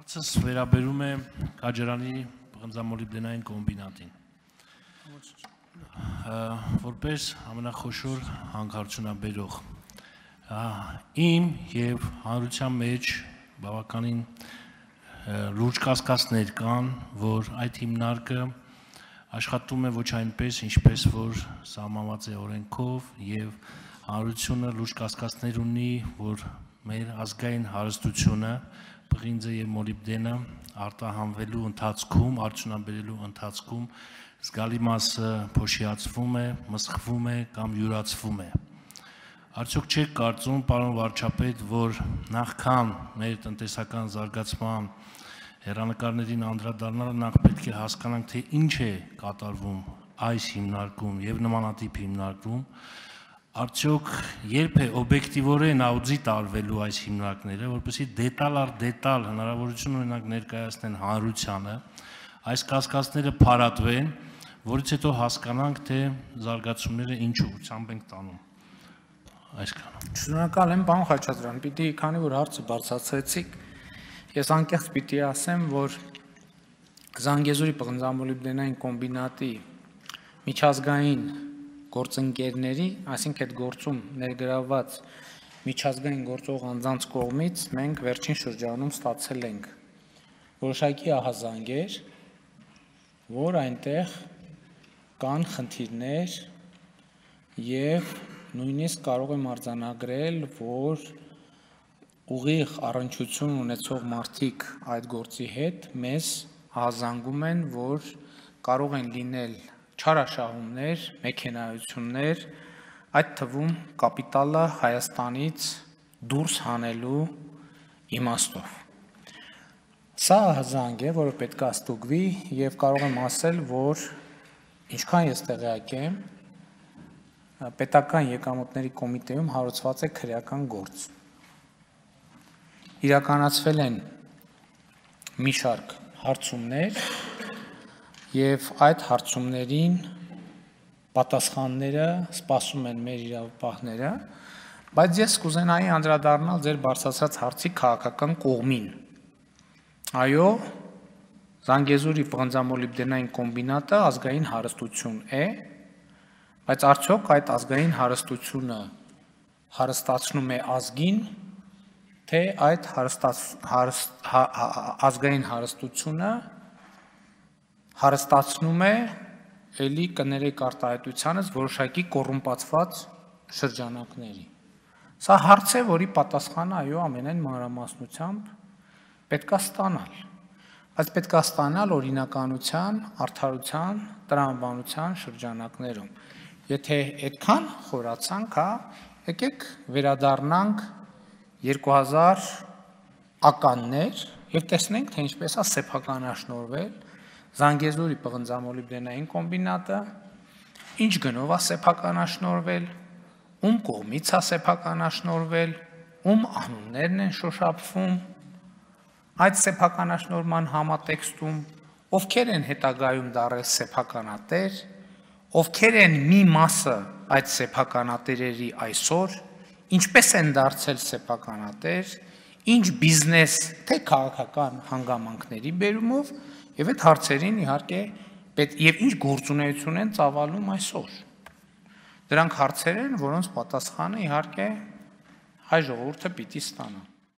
Հարցս վերաբերում է Քաջարանի պղնձամոլիբդենային կոմբինատին։ Որպես ամենախոշոր հանքարդյունաբերող իմ եւ հանրության մեջ բավականին լուրջ կասկածներ կան, որ այդ հիմնարկը աշխատում է ոչ այնպես, ինչպես որ սահմանված է օրենքով եւ հանրությունը լուրջ կասկածներ ունի, որ մեր ազգային հարստությունը պղինձը եւ մոլիբդենը արտահանվելու ընթացքում, արդյունաբերելու ընթացքում զգալի մասը փոշիացվում է, մսխվում է կամ յուրացվում է։ Արդյոք չեք կարծում, պարոն վարչապետ, որ նախքան մեր տնտեսական զարգացման հեռանկարներին անդրադառնալը նախ պետք է հասկանանք, թե ինչ է կատարվում այս հիմնարկում եւ նմանատիպ հիմնարկում, արդյոք երբ է օբյեկտիվորեն աուդիտ արվելու այս հիմնարկները, որպեսզի դետալ առ դետալ հնարավորություն ունենանք ներկայացնել հանրությանը, այս կասկածները փարատվեն, որից հետո հասկանանք, թե զարգացումները ինչ ուղղությամբ ենք տանում։ Այսքանը։ Շնորհակալ եմ, պարոն Խաչատրյան, պիտի քանի որ հարցը բարձրացրեցիք, ես անկեղծ պիտի ասեմ, որ Զանգեզուրի պղնձամոլիբդենային կոմբինատի միջազգային գործընկերների, այսինքն այդ գործում ներգրավված միջազգային գործող անձանց կողմից մենք վերջին շրջանում ստացել ենք որոշակի ահազանգեր, որ այնտեղ կան խնդիրներ եւ նույնիսկ կարող եմ արձանագրել, որ ուղիղ առնչություն ունեցող մարդիկ այդ գործի հետ մեզ ահազանգում են, որ կարող են լինել չարաշահումներ, մեքենայություններ, այդ թվում կապիտալը Հայաստանից դուրս հանելու իմաստով։ Սա ահազանգ է, որը պետք է ստուգվի եւ կարող եմ ասել, որ ինչքան ես տեղյակ եմ, պետական եկամուտների կոմիտեում հարուցված է քրեական գործ։ Իրականացվել են մի շարք հարցումներ եւ այդ հարցումներին պատասխանները սպասում են մեր իրավապահները, բայց ես կուզենայի անդրադառնալ ձեր բարձրացրած հարցի քաղաքական կողմին։ Այո, Զանգեզուրի պղնձամոլիբդենային կոմբինատը ազգային հարստություն է, բայց արդյոք այդ ազգային հարստությունը հարստացնում է ազգին, թե այդ ազգային հարստությունը հարստացնում է էլի կներեք արտահայտությանս որոշակի կոռումպացված շրջանակների։ Սա հարց է, որի պատասխանը այո ամենայն մանրամասնությամբ պետք է ստանալ, բայց պետք է ստանալ օրինականության, արդարության, տրամաբանության շրջանակներում։ Եթե այդքան խորացանք, եկեք վերադառնանք 2000 ականներ եւ տեսնենք, թե ինչպես է սեփականաշնորհվել Զանգեզուրի պղնձամոլիբդենային կոմբինատը, ինչ գնով է սեփականաշնորհվել, ում կողմից է սեփականաշնորհվել, ում անուններն են շոշափվում, այդ սեփականաշնորհման համատեքստում, ովքեր են հետագայում դառել սեփականատեր, ովքեր են մի մասը այդ սեփականատերերի այսօր, ինչպես են դարձել սեփականատեր, ինչ բիզնես, թե քաղաքական հանգամանքների բերումով եւ այդ հարցերին իհարկե եւ ինչ գործունեություն են ծավալում այսօր։ Դրանք հարցեր են, որոնց պատասխանը իհարկե հայ ժողովուրդը պիտի ստանա։